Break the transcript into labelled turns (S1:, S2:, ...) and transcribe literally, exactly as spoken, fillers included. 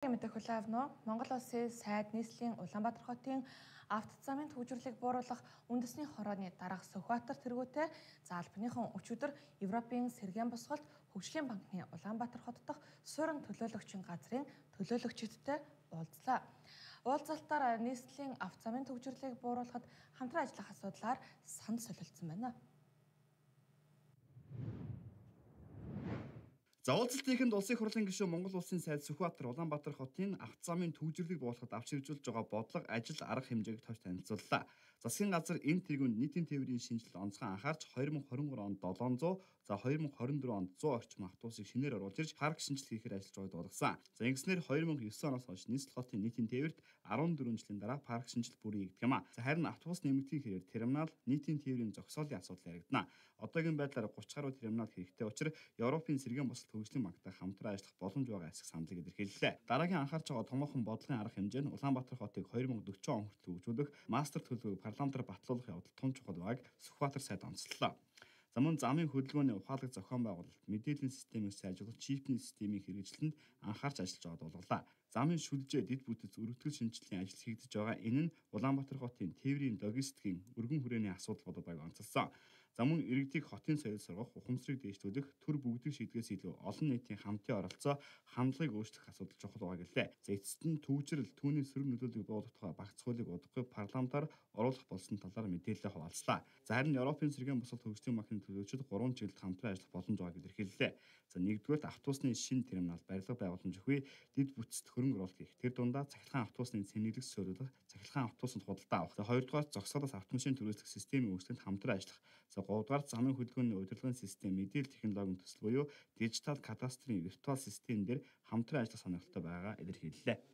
S1: Мэдээ хүлээвнө. Монгол улсын сайд нийслэлийн Улаанбаатар хотын авто замын төвжирлийг бууруулах үндэсний хорооны дарга Сүхбаатар тэргүүтэй за албаныхан өчигдөр Европын сэргээн босголт хөгжлийн банкны Улаанбаатар хот дахь суурин төлөөлөгчийн газрын төлөөлөгчдтэй уулзлаа. Уулзалтаар нийслэлийн авто замын төвжирлийг бууруулахад хамтран ажиллах асуудлаар санал солилцсон байна.
S2: За уулзалтынхэнд улсын хурлын гишүүн Монгол улсын сайд Сүхбаатар Улаанбаатар хотын авто замын төвжирлийг буулгахад авч хэрэгжүүлж байгаа бодлого, ажил, арга хэмжээг товч танилцууллаа. Засгийн газар энэ тэргуунд нийтийн тээврийн шинжилэл онцгой анхаарч две тысячи двадцать три онд седемсот, за две тысячи двадцать четыре онд сто орчим автобусыг шинээр оруулж ирж парк шинжилгээ хийхээр ажиллаж байгааг дуулгасан. За ингэснээр две тысячи девять оноос хойш нийслэл хотын нийтийн тээврт дөрвөн жилийн дараа парк шинжилт бүрий хийгдэх юм а. За харин автобус нэмэгдхийн хэрээр терминал нийтийн тээврийн зогсоолын асуудал яригдана. Одоогийн байдлаар тридцать гаруй терминал хэрэгтэй учраас Европын сэргээн босголт хөгжлийн банктай хамтран ажиллах боломж байгаа эсэх саналыг илэрхийллээ. Дараагийн анхаарч байгаа томоохон бодлогын арга хэмжээ нь Улаанбаатар хотыг две тысячи forty он хүртэл хөгжүүлэх мастер төлөвийг парламентаар батлуулах явдал тун чухал байгааг Сүхбаатар сайд онцлолоо. За мөн замын хөдөлгөөний ухаалаг зохион байгуулалт, мэдээллийн системийг сайжруулах, чипний системийн хэрэгжилтэнд анхаарч ажиллаж байгааг дуулгалаа. Замын шүлжээ, дэд бүтэц, өргөтгөл шинжилгээний ажил хийгдэж байгаа. Энэ нь Улаанбаатар хотын тээврийн логистикийн өргөн хүрээний асуудал болоод байгааг онцлсон. За мөн иргэдийг хотын соёл сургах, ухамсарыг дээшлүүлэх, төр бүгдийг шийдгээс илүү олон нийтийн хамтын оролцоо, хандлагыг өөрчлөх асуудал чухал байгаа гэлээ. За эцэст нь төвжирэл, түүний сөрөг нөлөөллийг буулгах тухай багц хуулийг удахгүй парламентаар оруулах болсон талаар мэдээлэл хуваалцлаа. За харин Европын сэргээн босголт хөгжлийн банкны төлөөлөгчид гурван чиглэлд хамтран ажиллах боломж байгааг илэрхийллээ. За нэгдүгээр автобусны шинэ терминал барилга байгууламж өгье, дэд бүтцэд хөрөнгө оруулалт хийх. Тэр дундаа цахилгаан автобусны цэнэглэх суурилах, цахилгаан автобусанд худалдаа авах. За хоёрдугаар зогсоолоос автомашин төрөөслөх системийн үүсгэнд хамтран ажиллах. За гуравдугаар замын хөдөлгөөний удирдлагын систем, мэдээлэл технологийн төсөл буюу дижитал кадастрын виртуал систем дээр хамтран ажиллах сонирхолтой байгаа илэрхийллээ.